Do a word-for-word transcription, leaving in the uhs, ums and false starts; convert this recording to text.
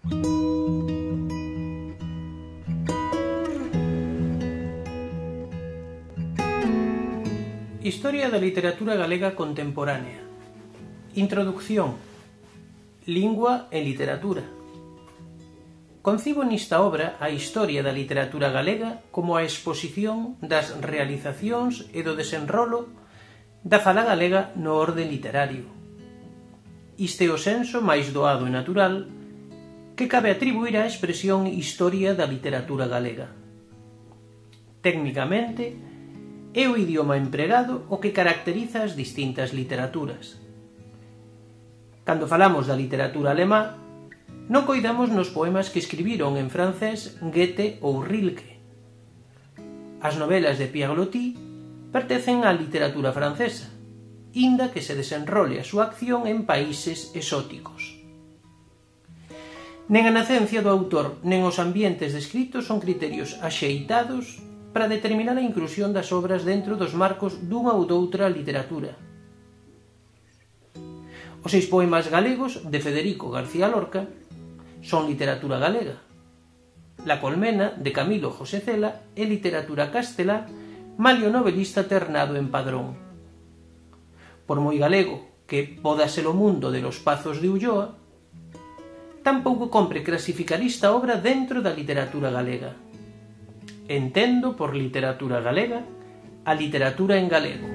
Historia da literatura galega contemporánea. Introducción. Lingua e literatura. Concibo nesta obra a historia da literatura galega como a exposición das realizacións e do desenrolo da fala galega no orde literario. Isto é o senso máis doado e natural que cabe atribuir á expresión historia da literatura galega. Técnicamente, é o idioma empregado o que caracteriza as distintas literaturas. Cando falamos da literatura alemá, non coidamos nos poemas que escribiron en francés Goethe ou Rilke. As novelas de Pierre Loti pertencen á literatura francesa, inda que se desenrole a súa acción en países exóticos. Nen a nacencia do autor nen os ambientes descritos son criterios axeitados para determinar a inclusión das obras dentro dos marcos dunha ou doutra literatura. Os seis poemas galegos de Federico García Lorca son literatura galega. La colmena, de Camilo José Cela, é literatura castelá, malio novelista ternado en Padrón. Por moi galego que poda ser o mundo de Los Pazos de Ulloa, tampouco compre clasificar esta obra dentro da literatura galega. Entendo por literatura galega a literatura en galego.